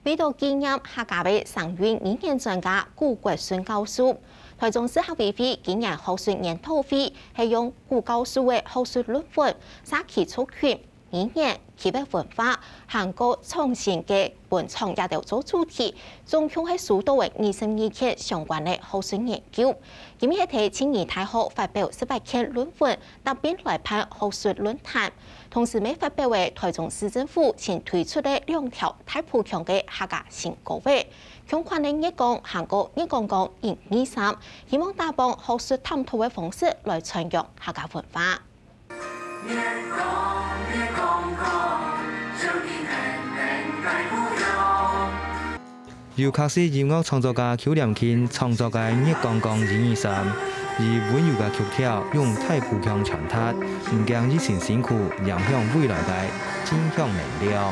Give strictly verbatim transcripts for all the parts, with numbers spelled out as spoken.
為著紀念客家个聲韻語言專家古國順教授，臺中市客委會今年學術研討會係用古教授个學術論文，社區族群、語言、區域文化，還過創新个文創這兜做主題，總共係收到个二十二件相關个學術研究。今日係在靜宜大學發表十八件論文，答辯來辦學術論壇。同時，乜發表个臺中市政府新推出个兩條大埔腔个客家新歌仔，共款个月光還過月光光一二三，希望打幫學術探討个方式來傳揚客家文化。 由客式音樂創作家邱濂慶創作个《月光光一二三》，以溫柔个曲調，用大埔腔傳達，毋驚疫情辛苦，影響未來个正向能量。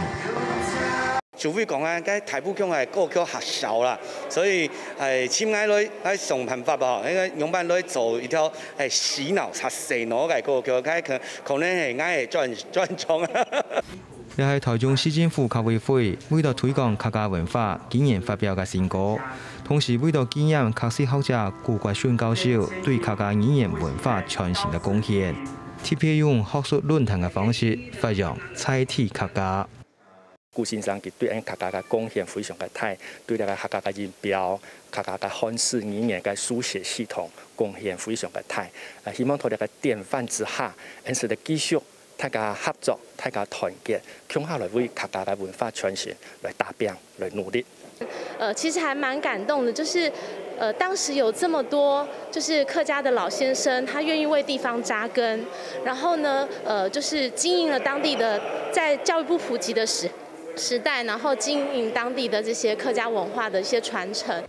就會講啊，該大埔腔个歌曲較少啦，所以，欸，請𠊎來，來想辦法哦，應該仰般來做一條，欸，洗腦、較洗腦个歌曲，該可，可能係𠊎个專，專長啊。 這係臺中市政府客委會為著推廣客家文化，今年發表个新歌，同時為著紀念客事學者古國順教授對客家語言文化傳承个貢獻，特別用學術論壇个方式發揚在地客家。古先生佢對𫣆客家个貢獻非常个大，對這个客家个音標、客家个漢字語言个書寫系統貢獻非常个大。啊，希望在這个典範之下，𫣆使得繼續 大家合作，大家團結，共下來為客家个文化傳承來打拚，來努力。呃，其實還蠻感動的，就是，呃，當時有這麼多，就是客家的老先生，他願意為地方扎根，然後呢，呃，就是經營了當地的，在教育不普及的時，時代，然後經營當地的這些客家文化的一些傳承。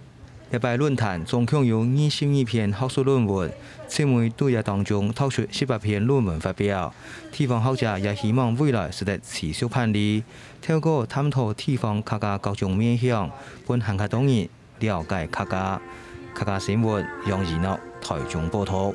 這擺論壇總共有二十二篇學術論文，尋每對這當中挑出十八篇論文發表。地方學者也希望未來使得持續辦理，透過探討地方客家各種面向，分還較多人了解客家。客家新聞楊怡諾，臺中報導。